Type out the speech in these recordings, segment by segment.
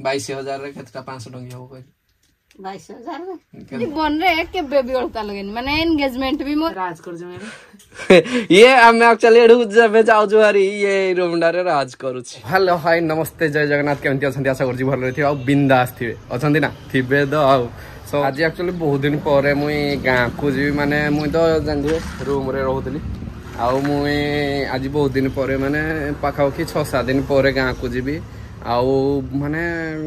22,000ରେ କେତେଟା 500 ଟଙ୍କିଆ ହବ କହିଲି? 22,000। ଜୀବନରେ କେବେ ବି ଅଳତା ଲଗେଇନି, ମାନେ ଏନଗେଜମେଣ୍ଟ ବି ମୋର ରାଜ କରୁଛୁ। ଇଏ ଆମେ ଆକ୍ଚୁଆଲି ଏଠୁ ଯେବେ ଯାଉଛୁ ଭାରି, ଇଏ ରୁମଟାରେ ରାଜ କରୁଛି। ହ୍ୟାଲୋ, ହାଇ, ନମସ୍ତେ, ଜୟ ଜଗନ୍ନାଥ। କେମିତି ଅଛନ୍ତି? ଆଶା କରୁଛି ଭଲରେ ଥିବେ ଆଉ ବିନ୍ଦାସ ଥିବେ। ଅଛନ୍ତି ନା? ଥିବେ ତ। ଆଉ ସୋ ଆଜି ଆକ୍ଚୁଆଲି ବହୁତ ଦିନ ପରେ ମୁଇଁ ଗାଁକୁ ଯିବି। ମାନେ ମୁଇଁ ତ ଜାଣିଥିବେ ରୁମରେ ରହୁଥିଲି, ଆଉ ମୁଇଁ ଆଜି ବହୁତ ଦିନ ପରେ, ମାନେ ପାଖାପାଖି 6-7 ଦିନ ପରେ ଗାଁକୁ ଯିବି। ଆଉ ମାନେ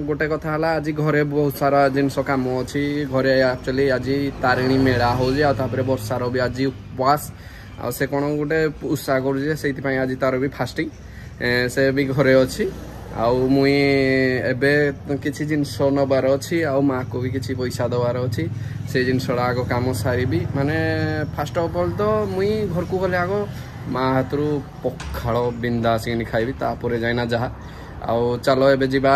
ଗୋଟେ କଥା ହେଲା, ଆଜି ଘରେ ବହୁତ ସାରା ଜିନିଷ କାମ ଅଛି। ଘରେ ଆକ୍ଚୁଆଲି ଆଜି ତାରିଣୀ ମେଳା ହଉଛି, ଆଉ ତାପରେ ବର୍ଷାର ବି ଆଜି ଉପବାସ, ଆଉ ସେ କ'ଣ ଗୋଟେ ଉଷା କରୁଛି, ସେଇଥିପାଇଁ ଆଜି ତାର ବି ଫାଷ୍ଟିଂ, ସେ ବି ଘରେ ଅଛି। ଆଉ ମୁଇଁ ଏବେ କିଛି ଜିନିଷ ନେବାର ଅଛି, ଆଉ ମାଆକୁ ବି କିଛି ପଇସା ଦେବାର ଅଛି। ସେ ଜିନିଷଟା ଆଗ କାମ ସାରିବି। ମାନେ ଫାଷ୍ଟ ଅଫ୍ ଅଲ୍ ତ ମୁଇଁ ଘରକୁ ଗଲେ ଆଗ ମା ହାତରୁ ପଖାଳ ବିନ୍ଦାସ କିଣି ଖାଇବି, ତାପରେ ଯାଇନା ଯାହା। ଆଉ ଚାଲ ଏବେ ଯିବା,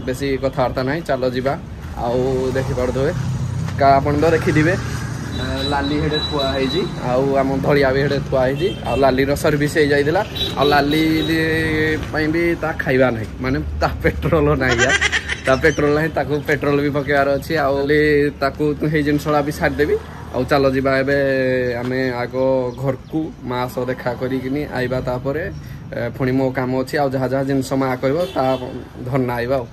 ବେଶୀ କଥାବାର୍ତ୍ତା ନାହିଁ, ଚାଲ ଯିବା। ଆଉ ଦେଖିପାରୁଥିବେ, ଆପଣ ତ ଦେଖିଥିବେ, ଲାଲି ହେଡ଼େ ଥୁଆ ହେଇଛି, ଆଉ ଆମ ଧଳିଆ ବି ହେଡ଼େ ଥୁଆ ହେଇଛି। ଆଉ ଲାଲିର ସର୍ଭିସ୍ ହେଇଯାଇଥିଲା, ଆଉ ଲାଲି ପାଇଁ ବି ତା ଖାଇବା ନାହିଁ, ମାନେ ତା ପେଟ୍ରୋଲ ନାହିଁ ୟାର, ତା ପେଟ୍ରୋଲ ନାହିଁ, ତାକୁ ପେଟ୍ରୋଲ ବି ପକେଇବାର ଅଛି। ଆଉ ତାକୁ ସେଇ ଜିନିଷଟା ବି ସାରିଦେବି। ଆଉ ଚାଲ ଯିବା ଏବେ ଆମେ ଆଗ ଘରକୁ, ମା ସହ ଦେଖା କରିକିନି ଆଇବା, ତାପରେ ପୁଣି ମୋ କାମ ଅଛି, ଆଉ ଯାହା ଯାହା ଜିନିଷ ମା କହିବ ତା ଧରନା ଆଇବା। ଆଉ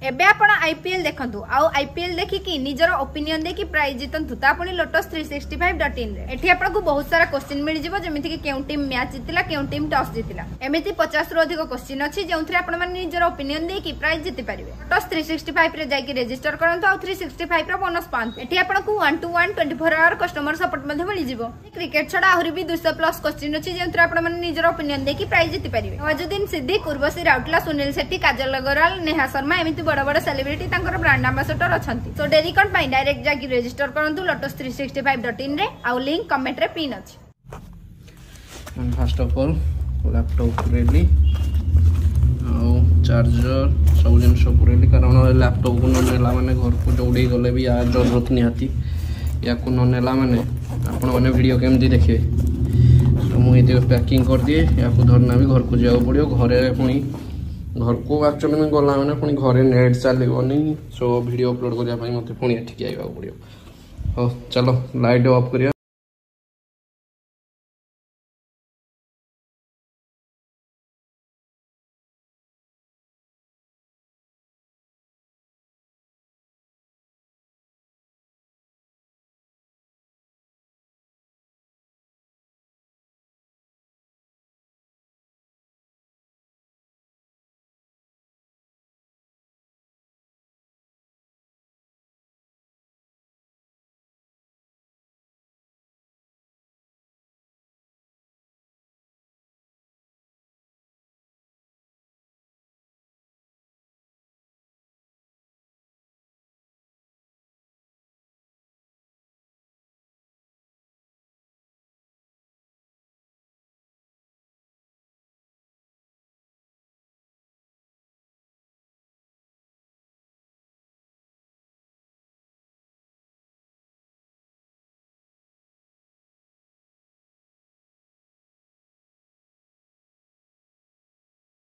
ଏବେ ଆପଣ ଆଇପିଏଲ ଦେଖନ୍ତୁ, ଆଉ ଆଇପିଏଲ ଦେଖିକି ନିଜର ଓପିନିଅନ ଦେଇକି ପ୍ରାଇଜ ଜିତନ୍ତୁ, ତା ପୁଣି ଲୋଟସ୍ 365.in ରେ। ଏଠି ଆପଣଙ୍କୁ ବହୁତ ସାରା କୋଶ୍ଚିନ୍ ମିଳିଯିବ, ଯେମିତିକି କେଉଁ ଟିମ୍ ମ୍ୟାଚ୍ ଜିତିଲା, କେଉଁ ଟିମ୍ ଟସ୍ ଜିତିଲା। ଏମିତି 50ରୁ ଅଧିକ କୋଶ୍ଚିନ୍ ଅଛି ଯେଉଁଥିରେ ଆପଣମାନେ ନିଜର ଓପିନିଅନ ଦେଇକି ପ୍ରାଇଜ ଜିତି ପାରିବେ। ଲୋଟସ୍ 365 ରେ ଯାଇକି ରେଜିଷ୍ଟର କରନ୍ତୁ ଆଉ 365 ର ବୋନସ୍ ପାଆନ୍ତୁ। ଏଠି ଆପଣଙ୍କୁ 1 ଟୁ 1 24 ଆୱାର କଷ୍ଟମର ସପୋର୍ଟ ମଧ୍ୟ ମିଳିଯିବ। କ୍ରିକେଟ ଛଡା ଆହୁରି ବି 200 ପ୍ଲସ୍ କୋଶ୍ଚିନ୍ ଅଛି ଯେଉଁଥିରେ ଆପଣମାନେ ନିଜର ଓପିନିଅନ ଦେଇକି ପ୍ରାଇଜ ଜିତି ପାରିବେ। ନୱାଜୁଦ୍ଦିନ ସିଦ୍ଦିକ, ଉର୍ବଶୀ ରାଉତଲା, ସୁନୀଲ ସେଟ୍ଟି, କାଜଲ ଅଗ୍ରୱାଲ, ନେହା ଶର୍ମା, ଏମିତି ବଡ ବଡ ସେଲିବ୍ରିଟି ତାଙ୍କର ବ୍ରାଣ୍ଡ ଆମ୍ବାସଡର ଅଛନ୍ତି। ତ ଡେରି କଣ ପାଇଁ, ଡାଇରେକ୍ଟ ଯାଇକି ରେଜିଷ୍ଟର କରନ୍ତୁ ଲୋଟସ୍ 365.in ରେ, ଆଉ ଲିଙ୍କ କମେଣ୍ଟରେ ପିନ୍ ଅଛି। ଫାଷ୍ଟ ଅଫ୍ ଅଲ୍ ଲ୍ୟାପଟପ୍ ପୁରେଇଲି ଆଉ ଚାର୍ଜର ସବୁ ଜିନିଷ ପୁରେଇଲି, କାରଣ ଲ୍ୟାପଟପ୍କୁ ନ ନେଲା ମାନେ ଘରକୁ ଦୌଡ଼ିକି ଗଲେ ବି ୟା ଜରୁରତ ନିହାତି। ୟାକୁ ନ ନେଲା ମାନେ ଆପଣମାନେ ଭିଡ଼ିଓ କେମିତି ଦେଖିବେ? ତ ମୁଁ ଏଇଠି ପ୍ୟାକିଂ କରିଦିଏ, ୟାକୁ ଧରିନା ବି ଘରକୁ ଯିବାକୁ ପଡ଼ିବ। ଘରେ ପୁଣି ଘରକୁ ଆକ୍ଚୁଆଲି ମୁଁ ଗଲା ମାନେ ପୁଣି ଘରେ ନେଟ୍ ଚାଲିବନି, ସୋ ଭିଡ଼ିଓ ଅପଲୋଡ଼ କରିବା ପାଇଁ ମୋତେ ପୁଣି ଏଠିକି ଆଇବାକୁ ପଡ଼ିବ। ହଉ ଚାଲ, ଲାଇଟ୍ ଅଫ୍ କରିବା।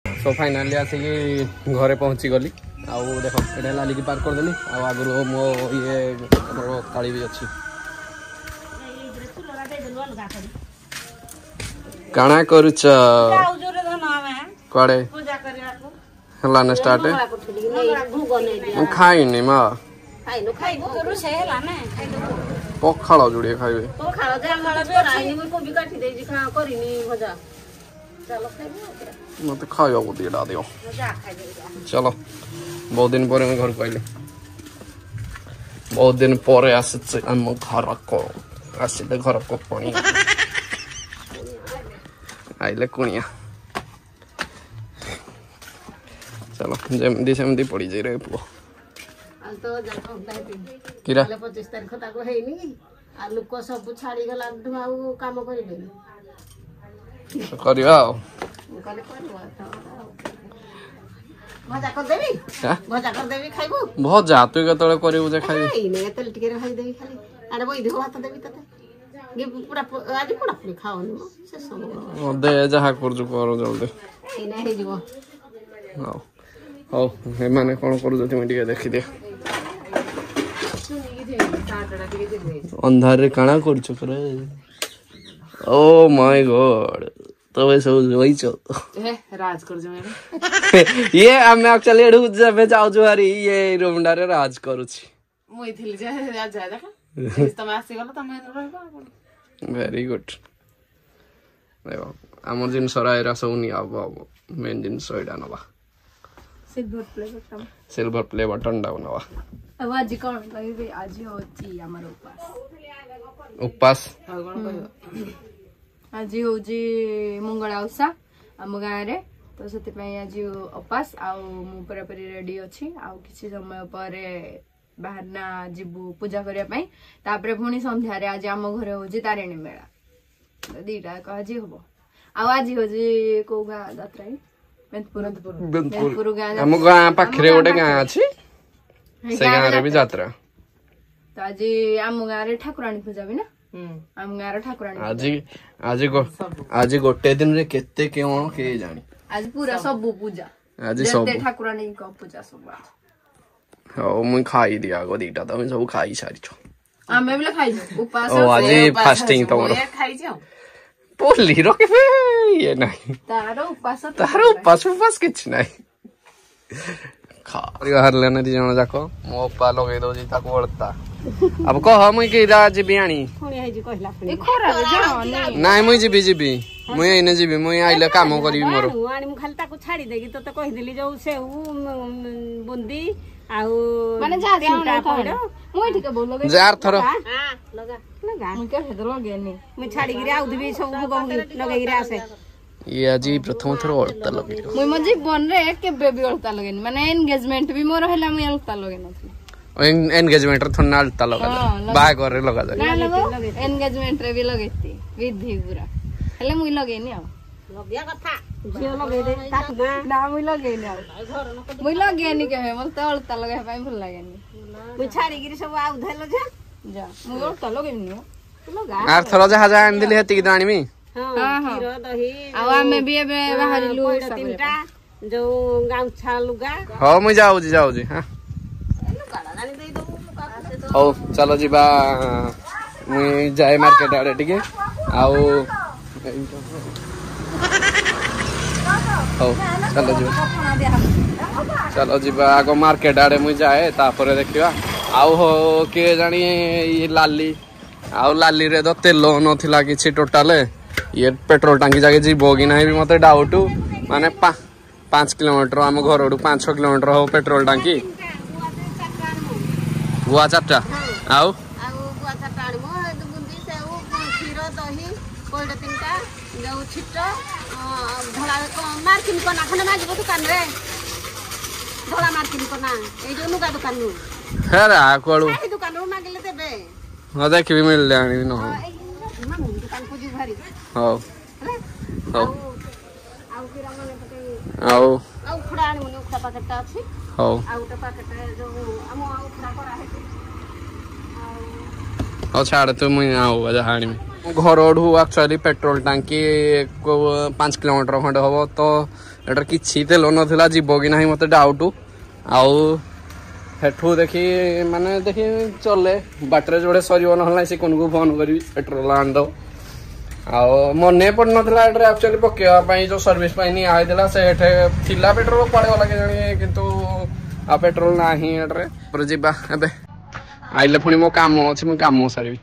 ସୋ ଫାଇନାଲି ଆସିକି ଘରେ ପହଞ୍ଚିଗଲି। ଆଉ ଦେଖ, ଏଇଟା ଲାଲିକି ପାର୍କ କରିଦେଲି, ଆଉ ଆଗରୁ ମୋ ଇଏ ଆମର ଥାଳି ବି ଅଛି। କାଣା କରୁଛ? କୁଆଡ଼େ ହେଲା ନା ଷ୍ଟାର୍ଟ? ମୁଁ ଖାଇନି ମା, ପଖାଳ ଯୋଡ଼ିଏ ଖାଇବେ। ମତେ ଖାଇବାକୁ ଦିଟା ଦିଅ। ଚାଲ, ବହୁତ ଦିନ ପରେ ମୁଁ ଘରକୁ ଆଇଲି, ବହୁତ ଦିନ ପରେ ଆସିଛି ଆମ ଘରକୁ। ଆସିଲେ ଘରକୁ ପୁଣି ଆଇଲେ କୁଣିଆ। ଚାଲ, ଯେମିତି ସେମିତି ପଡ଼ିଛି ରେ ପୁଅ। କିରା 25 ତାରିଖ ତାକୁ ହେଇନି, ଆଉ ଲୋକ ସବୁ ଛାଡିଗଲା, ଆଉ କାମ କରିବେନି। କରିବା ଆଉ ଭଜା କରିଦେବି, ଭଜା କରିଦେବି, ଖାଇବୁ? ଭଜା ତୁ କେତେବେଳେ କରିବୁ ଯେ ଖାଇବି? ତେଲ ଟିକେ ଭାଜିଦେବି ଖାଲି। ଆରେ ବୈଧ ଭାତ ଦେବି ତତେ। ପୁରା ଆଜି ପୋଡାପୋଡ଼ି ଖାଅନି ଶେଷ। ଦେ, ଯାହା କରୁଛୁ କର ଜଲ୍ଦି। ଏଇନା ହେଇଯିବ। ହଉ ହଉ, ଏମାନେ କ'ଣ କରୁଛନ୍ତି ମୁଁ ଟିକେ ଦେଖିଦିଏ। ଅନ୍ଧାରରେ କାଣା କରୁଛ କରେ? ଓ ମାଇ ଗଡ୍, ତମେ ସବୁ ଶୋଇଛ? ରାଜ କରୁଛୁ। ଇଏ ଆମେ ଆକ୍ଚୁଆଲି ଏଠୁ ଯେବେ ଯାଉଛୁ ଭାରି, ଇଏ ରୁମଟାରେ ରାଜ କରୁଛି। ମୁଇଁ ଥିଲି ଯେ ରାଜା ଦେଖ, ତମେ ଆସିଗଲ, ତମେ ରହିବ। Very good. ଦେଖ, ଆମର ଜିନିଷ ଏରା ସବୁ ନିଆ ହବ। ମେନ୍ ଜିନିଷ ଏଇଟା ନବା, silver play button. Silver play ବଟନଟାକୁ ନବା। ଆଉ ଆଜି କଣ କହିବି? ଆଜି ହଉଛି ଆମର ଉପାସ। ଉପାସ? ଆଉ କଣ କହିବ? ଆଜି ହଉଛି ମଙ୍ଗଳା ଓଷା ଆମ ଗାଁରେ, ତ ସେଥିପାଇଁ ଆଜି ଉପାସ। ଆଉ ମୁଁ ପୁରାପୁରି ରେଡି ଅଛି। ଆଉ କିଛି ସମୟ ପରେ ବାହାରନା ଯିବୁ ପୂଜା କରିବା ପାଇଁ। ତାପରେ ପୁଣି ସନ୍ଧ୍ୟାରେ ଆଜି ଆମ ଘରେ ହଉଛି ତାରିଣୀ ମେଳା। ତ ଦିଟା ଯାକ ଆଜି ହବ। ଆଉ ଆଜି ହଉଛି କୋଉ ଗାଁ ଯାତ୍ରା କି? ବେନ୍ତପୁର। ବେନ୍ତପୁର ଗାଁ। ଆମ ଗାଁ ପାଖରେ ଗୋଟେ ଗାଁ ଅଛି, ସେ ଗାଁରେ ବି ଯାତ୍ରା। ତ ଆଜି ଆମ ଗାଁରେ ଠାକୁରାଣୀ ପୂଜା ବି ନା, ଆମ ଗାଁର ଠାକୁରାଣୀ। ଆଜି ଗୋଟେ ଦିନରେ କେତେ କଣ କିଏ ଜାଣି। ଆଜି ପୁରା ସବୁ ପୂଜା। ଆଜି ସବୁ ଠାକୁରାଣୀଙ୍କ ପୂଜା ସବୁ। ହଉ, ମୁଁ ଖାଇଦିଏ ଆଗ ଦିଟା। ତମେ ସବୁ ଖାଇ ସାରିଛ? ଆମେ ବି ଖାଇଛୁ ଉପାସ। ଓ, ଆଜି ଫାଷ୍ଟିଂ ତମର? ଖାଇଛି। ଆଉ ପଲ୍ଲୀର କେବେ ଇଏ ନାହିଁ, ତାର ଉପାସ, ତାର ଉପାସ କିଛି ନାହିଁ। ବାହାରିଲେ ନା ଦି ଜଣ ଯାକ। ମୋ ଅପା ଲଗେଇ ଦଉଛି ତାକୁ ଅଳତା। ଆଉ କହ, ମୁଇଁ କିରା ଯିବି ଆଣି? ନାଇଁ, ମୁଇଁ ଯିବି, ଯିବି ମୁଇଁ, ଏଇନେ ଯିବି ମୁଇଁ। ଆଇଲେ କାମ କରିବି ମୋର। ମୁଁ ଖାଲି ତାକୁ ଛାଡି ଦେଇକି ତତେ କହିଦେଲି, ଯୋଉ ସେଉ, ବୁନ୍ଦି ଆଉ ମାନେ ଯାହା ଯାହା। ମୁଁ ଏଠି କେବେ ଲଗେଇ ଯାର ଥର ମୁଁ କେବେ ତ ଲଗେଇନି। ମୁଁ ଛାଡିକିରି ଆଉଥିବି, ସବୁ ଭୋଗ ଲଗେଇକିରି ଆସେ। ଇଏ ଆଜି ପ୍ରଥମ ଥର ଅଳତା ଲଗେଇବ। ମୁଁ ମୋ ଜୀବନରେ କେବେ ବି ଅଳତା ଲଗେଇନି। ମାନେ ଏନଗେଜମେଣ୍ଟ ବି ମୋର ହେଲା, ମୁଁ ଅଳତା ଲଗେଇ ନଥିଲି। ଏନଗେଜମେଣ୍ଟ ରେ ଥୋଡା ଅଳତା ଲଗାଯାଏ, ବାହାଘରରେ ଲଗାଯାଏ। ନା, ଏନଗେଜମେଣ୍ଟ ରେ ବି ଲଗେଇତି ବିଧି ପୁରା, ହେଲେ ମୁଇଁ ଲଗେଇନି। ଆଉ ଲଗେଇବା କଥା, ଝିଅ ଲଗେଇଦେ ତାକୁ। ନା, ମୁଇଁ ଲଗେଇନି। ଆଉ ମୁଇଁ ଲଗେଇନି କେବେ। ମତେ ଅଳତା ଲଗେଇବା ପାଇଁ ଭଲ ଲାଗେନି। ମୁଁ ଛାଡିକିରି ସବୁ ଆଉ ଧେଲ ଯା ଯା, ମୁଁ ଅଳତା ଲଗେଇବିନି। ଆର ଥର ଯାହା ଯାହା ଆଣିଥିଲି ସେତିକି ତ ଆଣିବି। କ୍ଷୀର, ଦହି। ଆଉ ଆମେ ବି ଏବେ ବାହାରିଲୁ ତିନିଟା, ଯୋଉ ଗାମୁଛା, ଲୁଗା। ହଉ, ମୁଇଁ ଯାଉଛି, ଯାଉଛି। ହଉ, ଚାଲ ଯିବା। ମୁଇଁ ଯାଏ ମାର୍କେଟ ଆଡେ ଟିକେ। ଆଉ ହଉ, ଚାଲ ଯିବା, ଚାଲ ଯିବା ଆଗ ମାର୍କେଟ ଆଡେ ମୁଇଁ ଯାଏ, ତାପରେ ଦେଖିବା। ଆଉ ହଉ, କିଏ ଜାଣି ଇଏ ଲାଲି, ଆଉ ଲାଲିରେ ତ ତେଲ ନଥିଲା କିଛି ଟୋଟାଲ। ଇଏ ପେଟ୍ରୋଲ ଟାଙ୍କି ଯାକେ ଯିବ କି ନାହିଁ ବି ମତେ ଡାଉଟ। ମାନେ 5 କିଲୋମିଟର, ଆମ ଘରଠୁ 5-6 କିଲୋମିଟର ହବ ପେଟ୍ରୋଲ ଟାଙ୍କି। ଗୁଆ ଚାରିଟା ଆଉ ଗୁଆ ଚାରିଟା ଆଣିବୁ, ବୁନ୍ଦି, ସେଉ, କ୍ଷୀର, ଦହି, ପଇଡ଼ ତିନିଟା, ଯୋଉ ଛିଟ ଧଳା ମାର୍କିନ କନା ଖଣ୍ଡେ ମାଗିବ ଦୋକାନରେ। ଧଳା ମାର୍କିନ କନା, ଏଇ ଯୋଉ ଲୁଗା ଦୋକାନରୁ। ହେରା କୁଆଡୁ ଦୋକାନରୁ ମାଗିଲେ ଦେବେ। ହଁ, ଦେଖିବି, ମିଳିଲେ ଆଣିବି, ନହେଲେ ଦୋକାନକୁ ଯିବୁ ଭାରି। ହଉ ହଉ। ଆଉ ଆଉ ଉଖୁଡ଼ା ଆଣିବୁନି? ଉଖୁଡ଼ା ପ୍ୟାକେଟଟା ଅଛି। ହଉ, ଆଉ ଗୋଟେ ପ୍ୟାକେଟ ଯୋଉ ଆମ ଉଖୁଡ଼ା କରାହେଇଛି। ହଉ, ଛାଡ଼ ତୁ, ମୁଇଁ ଆଉ ଯାହା ଆଣିବି। ଘରଠୁ ଆକ୍ଚୁଆଲି ପେଟ୍ରୋଲ ଟାଙ୍କି 5 କିଲୋମିଟର ଖଣ୍ଡେ ହବ, ତ ଏଟାରେ କିଛି ତେଲ ନଥିଲା, ଯିବ କି ନାହିଁ ମତେ ଡାଉଟ। ଆଉ ସେଠୁ ଦେଖି, ମାନେ ଦେଖି ଚଲେ ବାଟରେ ଯୋଉଟେ ସରିବ, ନହେଲେ ନାହିଁ ସିକୁନକୁ ଫୋନ କରିବି, ପେଟ୍ରୋଲ ଆଣିଦବ। ଆଉ ମନେ ପଡିନଥିଲା ଏଠାରେ ଆକ୍ଚୁଆଲି ପକେଇବା ପାଇଁ। ଯୋଉ ସର୍ଭିସ ପାଇଁ ନିଆ ହେଇଥିଲା, ସେଠି ଥିଲା ପେଟ୍ରୋଲ, କୁଆଡେ ଗଲା କେଜାଣି, କିନ୍ତୁ ଆଉ ପେଟ୍ରୋଲ ନାହିଁ ଏଠାରେ। ପରେ ଯିବା ଏବେ, ଆଇଲେ ପୁଣି ମୋ କାମ ଅଛି, ମୁଁ କାମ ସାରିବି।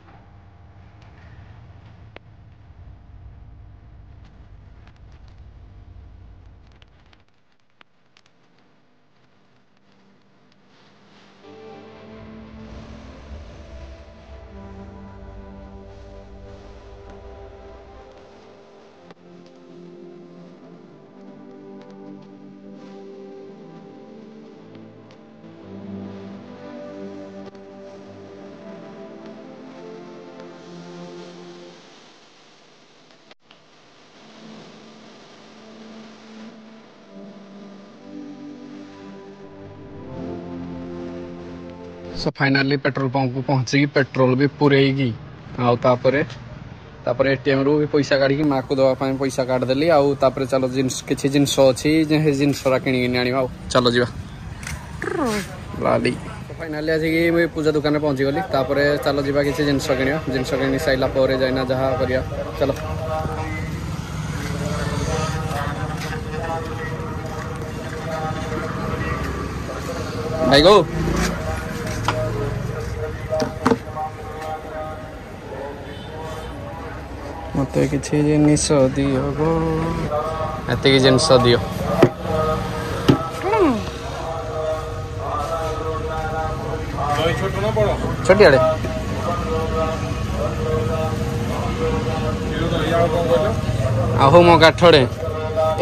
ସୋ ଫାଇନାଲି ପେଟ୍ରୋଲ ପମ୍ପକୁ ପହଞ୍ଚିକି ପେଟ୍ରୋଲ ବି ପୁରେଇକି, ଆଉ ତାପରେ ତାପରେ ଏଟିଏମ୍ରୁ ବି ପଇସା କାଢ଼ିକି ମାଆକୁ ଦେବା ପାଇଁ ପଇସା କାଢ଼ିଦେଲି। ଆଉ ତାପରେ ଚାଲ ଜିନିଷ କିଛି ଜିନିଷ ଅଛି ଯେ ସେ ଜିନିଷଟା କିଣିକିନି ଆଣିବା। ଆଉ ଚାଲ ଯିବା ଲାଲି। ଫାଇନାଲି ଆସିକି ମୁଁ ପୂଜା ଦୋକାନରେ ପହଞ୍ଚିଗଲି। ତାପରେ ଚାଲ ଯିବା କିଛି ଜିନିଷ କିଣିବା। ଜିନିଷ କିଣି ସାରିଲା ପରେ ଯାଇନା ଯାହା କରିବା। ଚାଲ ଭାଇ ଗୋ। ମତେ କିଛି ଜିନିଷ ଦିଅ ଗୋ, ଏତିକି ଜିନିଷ ଦିଅ। ଛୋଟିଆଡ଼େ ଆଉ ହଉ ମୋ କାଠରେ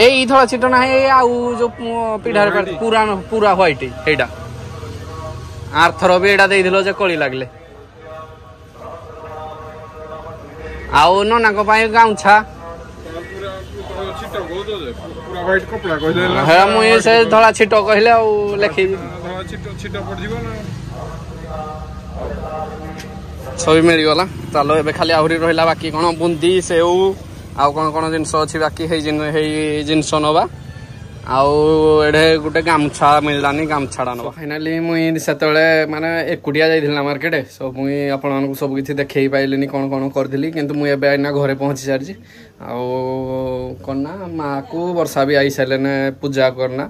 ଏଇ ଧଳା ଛିଟ ନାହିଁ, ଆଉ ଯୋଉ ପିଢାରେ ପୁରା ପୁରା ହ୍ୱାଇଟ୍ ହେଇଟା। ଆରଥର ବି ଏଇଟା ଦେଇଥିଲ ଯେ କଳି ଲାଗିଲେ। ଆଉ ନନାଙ୍କ ପାଇଁ ଗାମୁଛା ହେ ମୁଇଁ ସେ ଧଳା ଛିଟ କହିଲେ ଆଉ ଲେଖି ସବୁ ମିଳିଗଲା। ଚାଲ ଏବେ ଖାଲି ଆହୁରି ରହିଲା ବାକି କ'ଣ ବୁନ୍ଦି, ସେଉ ଆଉ କ'ଣ କ'ଣ ଜିନିଷ ଅଛି ବାକି, ହେଇ ଜିନିଷ ନବା। ଆଉ ଏଠେ ଗୋଟେ ଗାମୁଛା ମିଳିଲାନି, ଗାମୁଛାଟା ନବା। ଫାଇନାଲି ମୁଇଁ ସେତେବେଳେ ମାନେ ଏକୁଟିଆ ଯାଇଥିଲି ନା ମାର୍କେଟ, ସୋ ମୁଇଁ ଆପଣମାନଙ୍କୁ ସବୁ କିଛି ଦେଖେଇ ପାଇଲିନି କ'ଣ କ'ଣ କରିଥିଲି। କିନ୍ତୁ ମୁଁ ଏବେ ଏଇନା ଘରେ ପହଞ୍ଚି ସାରିଛି। ଆଉ କ'ଣ ନା ମାଆକୁ ବର୍ଷା ବି I ସାରିଲେନେ ପୂଜା କରନା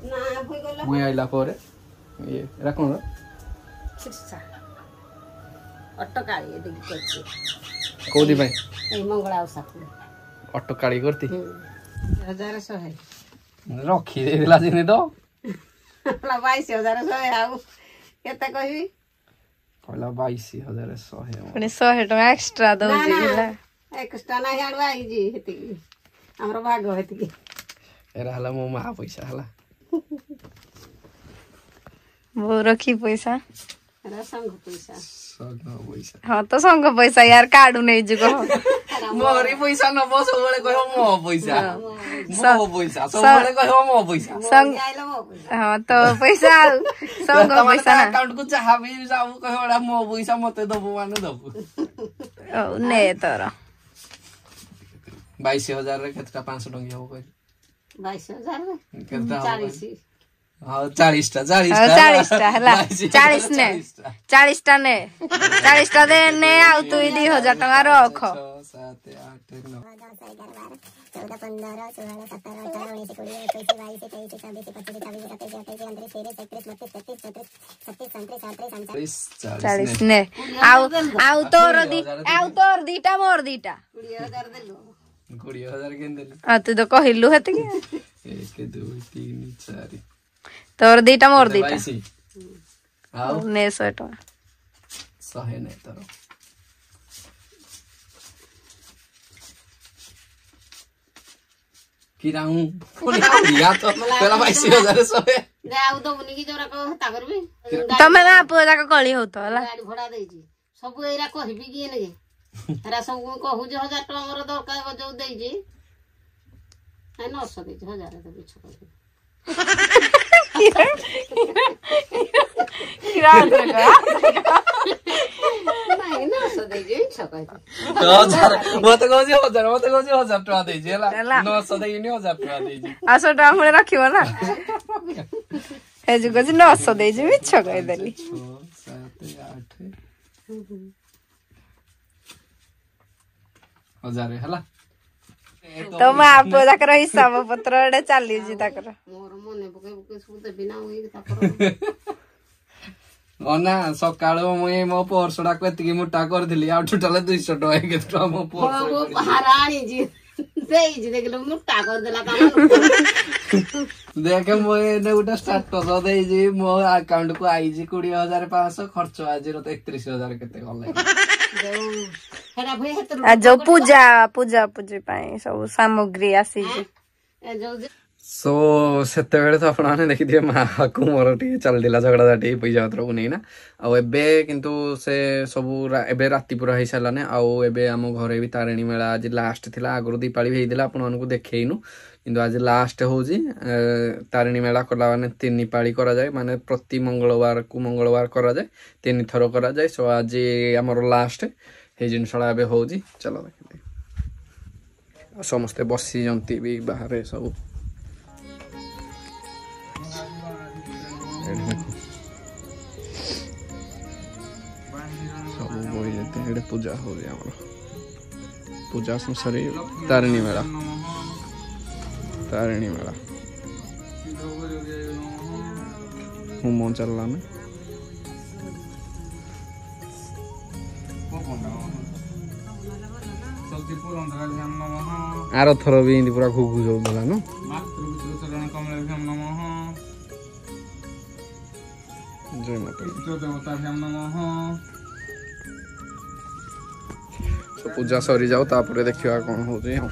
ମୁଇଁ ଆଇଲା ପରେ। ଇଏ ଏଇଟା କ'ଣ? କୋଉଥି ପାଇଁ? ଅଟକାଳି କରତି 1100 ରଖି ଦେଇଥିଲା ଚିନି ତ 22,100। ଆଉ କେତେ କହିବି? କହିଲା 22,100। ପୁଣି 100 ଟଙ୍କା ଏକ୍ସଟ୍ରା ଦଉଛି। ଏକ୍ସଟ୍ରା ନାହିଁ, ଆଡୁ ଆଇଛି ହେତିକି, ଆମର ଭାଗ ହେତିକି। ଏରା ହେଲା ମୋ ମା ପଇସା ହେଲା। ବୋଉ ରଖି ପଇସା। ସଂଘ ପଇସା। ହଁ ତ ସଂଘ ପଇସା ୟାର କାଢୁ ନେଇଛୁ କହ। ମୋରି ପଇସା ନବ ସବୁବେଳେ କହିବ ମୋ ପଇସା, ମୋ ପଇସା, ସବୁବେଳେ କହିବ ମୋ ପଇସା। ହଁ ତ ପଇସା ଆଉ ସଂଘ ପଇସା ନା ଆକାଉଣ୍ଟ କୁ ଯାହା ବି ଯାଉ କହିବ ଏଟା ମୋ ପଇସା, ମତେ ଦବୁ ମାନେ ଦବୁ। ହଉ ନେ ତୋର। 22,000ରେ କେତେଟା 500 ଟଙ୍କିଆ ହବ କହିଲୁ? 22,000 କେତେଟା? 40। ହଁ 40ଟା। 40ଟା, 40ଟା ହେଲା। 40 ନେ, 40ଟା ନେ, 40ଟା ଦେ ନେ। ଆଉ ତୁଇ 2000 ଟଙ୍କା ରଖ। 6 7 8 9 10 11 12 14 15 16 17 18 19 20 21 22 23 24 25 26 27 28 29 30 31 32 33 34 36 37 38 40। 40 ନେ। ଆଉ ଆଉ ତୋର ଦି, ଆଉ ତୋର ଦିଟା, ମୋର ଦିଟା। 20,000 ଦେଲୁ? 20,000 କେମିତି ଦେଲି? ଆଉ ତୁ ତ କହିଲୁ ହେତିକି। 1 2 3 4। ତୋର ଦିଟା, ମୋର ଦିଟା। 22 ଆଉ ନେ 100 ଟଙ୍କା। 100 ନେ ତୋର। କିରାଉଁ ପୁଣି ତ କହିଲା 22,100। ଆଉ ଦବୁନି କି ଯୋଉରା ହେତା କରିବି? ତମେ ମା ପୁଅ ଯାକ କଳି ହଉଥ ହେଲା। ଗାଡି ଭଡା ଦେଇଛି ସବୁ ଏଇରା କହିବି କି ଏନେ? ହେରା ସବୁ ମୁଁ କହୁଛି। 1000 ଟଙ୍କା ମୋର ଦରକାର ଯୋଉ ଦେଇଛି, 900 ଦେଇଛି, 1000 ଦେବି କହିବି। ମତେ କହୁଛି 1000, ମତେ କହୁଛି 1000 ଟଙ୍କା ଦେଇଛି ହେଲା, 900 ଦେଇନି, 1000 ଟଙ୍କା ଦେଇଛି। ଆଉ 100 ଟଙ୍କା ପୁଣି ରଖିବ ନା? ଏ ଯୋଉ କହୁଛି 900 ଦେଇଛି, ମିଛ କହିଦେଲି। 6 7 8 1000 ହେଲା। ତ ମା ପୁଅ ଯାକର ହିସାବ ପତ୍ର ଏଡେ ଚାଲିଛି ତାଙ୍କର। ମୋର ମନେ ପକେଇ ପକେଇ ସବୁ ଦେବି ନା ମୁଇଁ ତାପରେ ନା ସକାଳୁ ମୁଇଁ ମୋ ପର୍ସଟାକୁ ଏତିକି ମୋଟା କରିଥିଲି, ଆଉ ଟୋଟାଲ 200 ଟଙ୍କା କେତେ ଟଙ୍କା ମୋ ପର୍ସ ଭାର ଆଣିଛି ଦେଇଛି, ଦେଖିଲୁ ମୋଟା କରିଦେଲା। ଦେଖେ ମୁଁ ଏଇନେ ଗୋଟେ ଷ୍ଟାଟସ ଦେଇଛି, ମୋ ଆକାଉଣ୍ଟ କୁ ଆଇଛି 20,500, ଖର୍ଚ୍ଚ ଆଜିର ତ 31,000 କେତେ ଗଲା। ଯୋଉ ପୂଜା ପୂଜା ପୂଜି ପାଇଁ ସବୁ ସାମଗ୍ରୀ ଆସିଛି। ସୋ ସେତେବେଳେ ତ ଆପଣମାନେ ଦେଖିଥିବେ ମାଆକୁ ମୋର ଟିକେ ଚାଲିଥିଲା ଝଗଡ଼ାଝାଟି ପଇସା ପତ୍ରକୁ ନେଇନା। ଆଉ ଏବେ କିନ୍ତୁ ସେ ସବୁ ଏବେ ରାତି ପୁରା ହେଇସାରିଲାନି। ଆଉ ଏବେ ଆମ ଘରେ ବି ତାରିଣୀ ମେଳା ଆଜି ଲାଷ୍ଟ ଥିଲା। ଆଗରୁ ଦୀପାଳି ବି ହେଇଥିଲା, ଆପଣମାନଙ୍କୁ ଦେଖେଇନୁ, କିନ୍ତୁ ଆଜି ଲାଷ୍ଟ ହେଉଛି। ତାରିଣୀ ମେଳା କଲା ମାନେ 3 ପାଳି କରାଯାଏ, ମାନେ ପ୍ରତି ମଙ୍ଗଳବାରକୁ ମଙ୍ଗଳବାର କରାଯାଏ, 3 ଥର କରାଯାଏ। ସୋ ଆଜି ଆମର ଲାଷ୍ଟ ସେଇ ଜିନିଷଟା ଏବେ ହେଉଛି। ଚାଲ ଦେଖିଦିଏ। ଆଉ ସମସ୍ତେ ବସିଛନ୍ତି ବି ବାହାରେ ସବୁ। ଏଠି ଦେଖ ସବୁ ବହି ଯେତେ। ଏଠି ପୂଜା ହଉଛି ଆମର, ପୂଜା ସରି ତାରିଣୀ ମେଳା, ତାରିଣୀ ମେଳା ହୋମ ଚାଲିଲା ନା। ଆର ଥର ବି ଏମିତି ପୁରା ଘୁଘୁ ଯାଉଥିଲା ନା। ଜୟ ମାତା। ପୂଜା ସରିଯାଉ, ତାପରେ ଦେଖିବା କ'ଣ ହଉଛି। ଆଉ